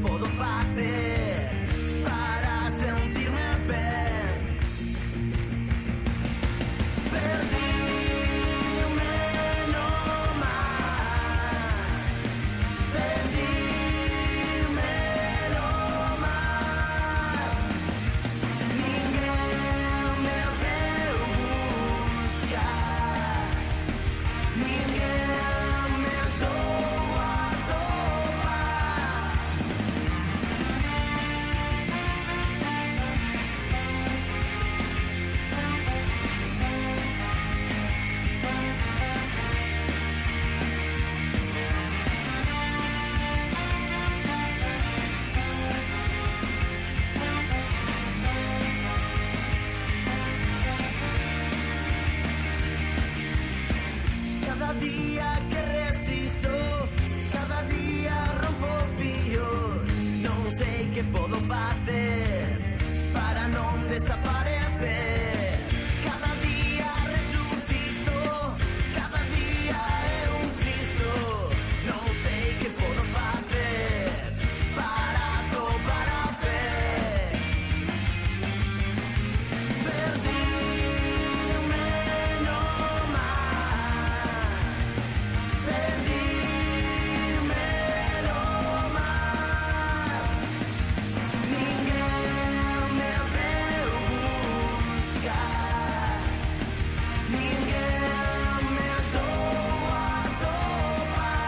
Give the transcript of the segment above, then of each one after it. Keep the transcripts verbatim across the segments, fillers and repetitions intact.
podo facer para sentirme ben. Perdíme no mar, perdíme no mar. Ninguén me veu buscar, ninguén me sou atopar. Cada día que resisto, cada día rompo fillos. Non sei que podo facer para non desaparecer. Cada día resucito, cada día é un Cristo. Non sei que podo facer para atopar a fe. Perdíme no mar, perdíme no mar. Ninguén me veu buscar, ninguén me sou atopar.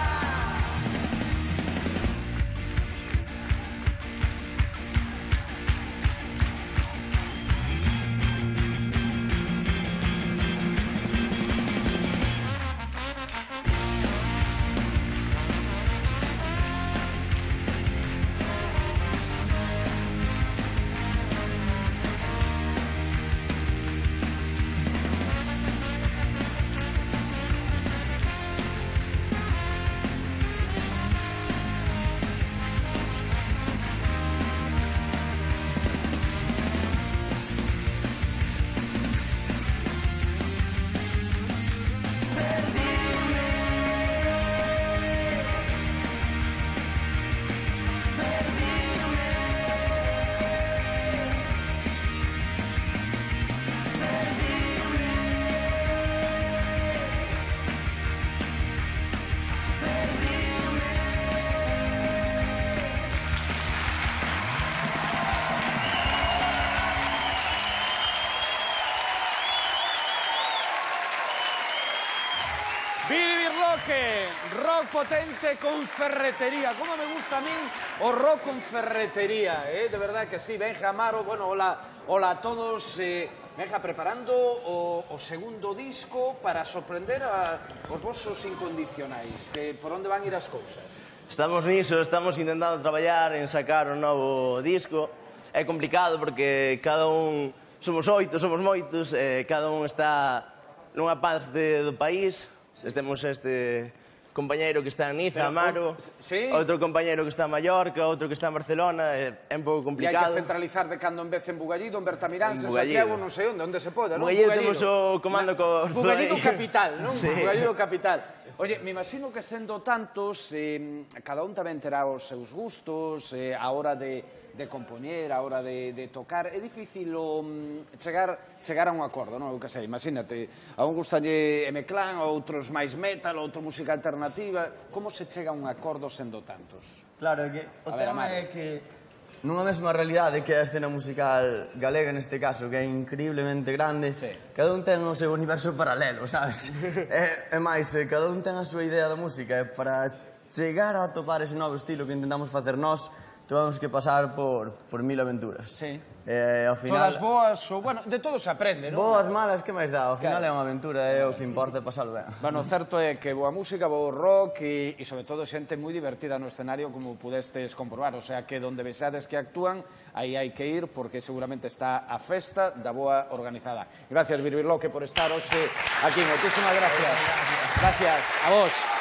Billy Birloque, rock potente con ferretería. Como me gusta a mí o rock con ferretería, eh? De verdad que sí. Benja, Amaro, bueno, hola, hola a todos. Eh, Benja, preparando o, o segundo disco para sorprender a os vosos incondicionais. Que por onde van ir as cousas? Estamos niso, estamos intentando traballar en sacar un novo disco. É complicado porque cada un... Somos oito, somos moitos, eh, cada un está nunha parte do país. Temos este compañeiro que está en Niza, Pero, Amaro, sí. outro compañeiro que está en Mallorca, outro que está en Barcelona, é, é un pouco E hai que complicado. centralizar de cando en vez en Bugallido, en Bertamirán, en En Bugallido. Santiago, non sei onde, onde se poda, non? Bugallido temos o comando co... Bugallido capital, non? Sí. Bugallido capital. Oye, me imagino que sendo tantos, eh, cada un tamén terá os seus gustos, eh, a hora de, de compoñer, a hora de, de tocar. É difícil um, chegar, chegar a un acordo, non? Eu que sei, imagínate, a un gustalle M-Clan, a outros máis metal, a outro música alternativa. Como se chega a un acordo sendo tantos? Claro, é que o A ver, tema Amaro. é que nunha mesma realidade que é a escena musical galega neste caso, que é increíblemente grande, Sí. cada un ten o seu universo paralelo, sabes? é, é máis, eh, cada un ten a súa idea da música, e para chegar a atopar ese novo estilo que intentamos facer nós, tuvemos que pasar por, por mil aventuras. Sí. Eh, ao final... Todas boas, ou, bueno, de todo se aprende, non? Boas, malas, que máis dá? Ao final Claro. é unha aventura, é o que importa pasalo ben. Bueno, certo é que boa música, bo rock e, e sobre todo xente moi divertida no escenario, como pudestes comprobar. O sea que donde vexades que actúan, aí hai que ir porque seguramente está a festa da boa organizada. Gracias, Birbirloque, por estar hoxe aquí. Moitísimas gracias. Gracias a vos.